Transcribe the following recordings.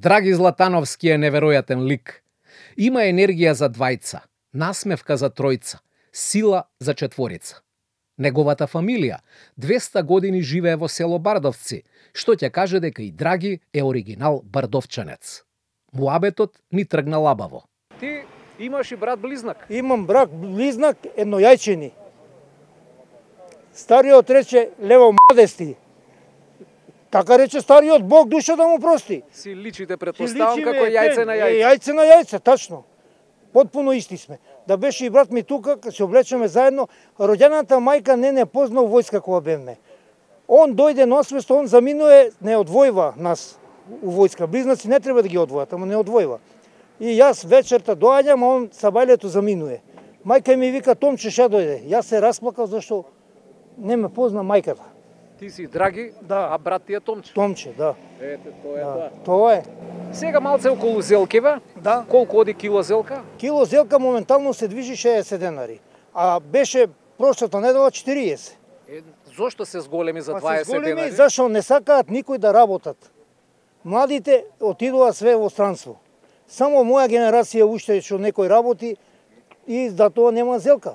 Драги Златановски е неверојатен лик. Има енергија за двајца, насмевка за тројца, сила за четворица. Неговата фамилија 200 години живее во село Бардовци, што ќе каже дека и Драги е оригинал бардовчанец. Муабетот ни тргна лабаво. Ти имаш и брат близнак? Имам брат близнак, еднојајчени. Стариот рече лево младести. Така рече стариот, Бог душа да му прости. Си личите, предпоставам, како јајце на јајце. Јајце на јајце, тачно. Потпуно исти сме. Да беше и брат ми тука, кога се облечеме заедно, роѓената мајка не позна у војска кога бевме. Он дојде на освест, он заминуе, не одвојва нас у војска. Близнаци не треба да ги одвојат, ама не одвојва. И јас вечерта доаѓам, а он сабајлето заминуе. Мајка ми вика, Томче, ша дојде. Јас се расплакав зашто не ме позна мајката. Ти си Драги, да, а брат ти е Томче. Томче, да. Ете, тоа е тоа. Тоа е. Сега малце околу зелкиве. Да. Колку оди кило зелка? Кило зелка моментално се движи 60 денари. А беше прошлата недела 40. Зошто се зголеми за 20 се зголеми, денари? Зашто не сакаат никој да работат. Младите отидува све во странство. Само моја генерација уште што некој работи и за тоа нема зелка.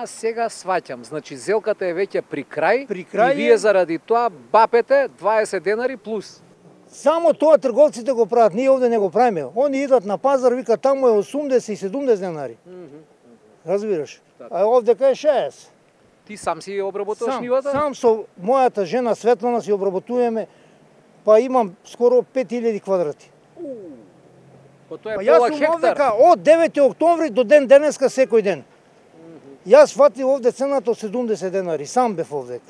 Сега сваќам. Значи зелката е веќе при крај, и вие заради тоа бапете 20 денари плюс. Само тоа трговците го прават, ние овде не го правиме. Они идат на пазар, викат таму е 80 и 70 денари. Разбираш? А овде кај 60. Ти сам си обработуваш нивата? Сам со мојата жена Светлана си обработуваме, па имам скоро 5000 квадрати. Па тоа е пола хектар. Јас од 9 октомври до ден денеска секој ден. Јас фатив овде цената од 70 денари, сам бев овде.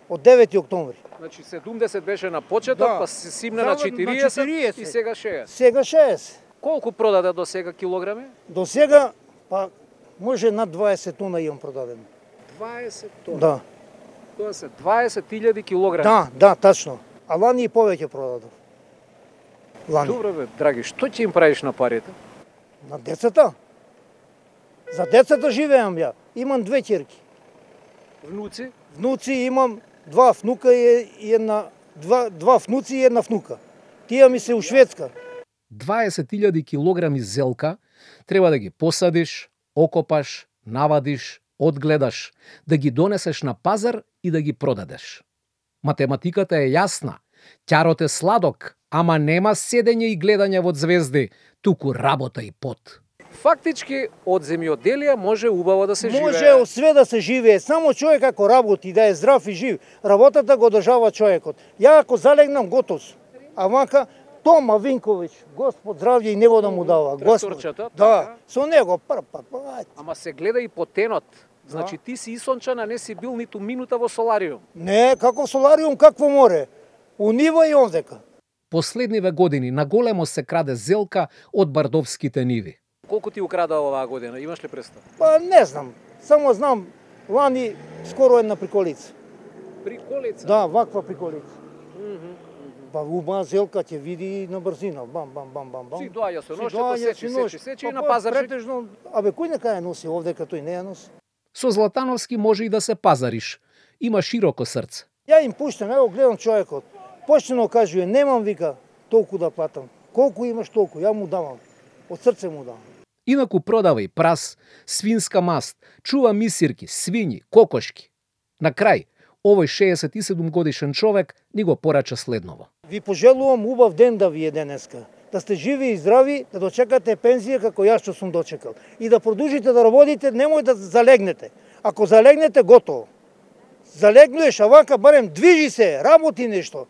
Од 9 октомври. Значи 70 беше на почеток, па се симна на 40 и сега 60. Сега 60. Колку продаде до сега килограми? До сега, па може над 20 тона имам продадено. 20 тона? Да. Тоа се 20.000 килограми. Да, тачно. А лани и повеќе продадов. Лани. Добре бе, Драги, што ќе им правиш на парите? На децата. За децата живеам ја. Имам 2 ќерки. Внуци? Внуци имам 2 внука и една 2 внуци и една внука. Тие ми се у Шведска. 20.000 килограми зелка треба да ги посадиш, окопаш, навадиш, одгледаш, да ги донесеш на пазар и да ги продадеш. Математиката е јасна. Ќарот е сладок, ама нема седење и гледање во звезди, туку работа и пот. Фактички, од земјоделие може убаво да се живее. Може све да се живее, само човек ако работи, да е здрав и жив, работата го одржава човекот. Ја ако залегнам, готов сум. А вака, Тома Винковиќ, Господ здравје и него да му дава. Тракторчето, да, со него. Ама се гледа и по тенот. Значи ти си исончан, а не си бил ниту минута во солариум. Не, како солариум, какво море. У нива и овдека. Последниве години на големо се краде зелка од бардовските ниви. Колку ти украда оваа година? Имаш ли представа? Па не знам. Само знам, лани скоро една приколица. Приколица? Да, ваква приколица. Па убава зелка ќе види на брзина. Бам. Си доаѓа со ношето, сечи и на пазар. Претежно, кој нека ја носи овде, като и не ја носи? Со Златановски може и да се пазариш. Има широко срце. Ја им пуштам, ево гледам човекот. Почнено кажува, немам вика толку да платам. Колку имаш толку, ја му давам. Од срце му давам. Инаку продава и прас, свинска маст, чува мисирки, свињи, кокошки. На крај, овој 67 годишен човек ни го порача следново. Ви пожелувам убав ден да ви е денеска. Да сте живи и здрави, да дочекате пензија како јас што сум дочекал. И да продолжите да работите, немој да залегнете. Ако залегнете, готово. Залегнуеш, а вака барем движи се, работи нешто.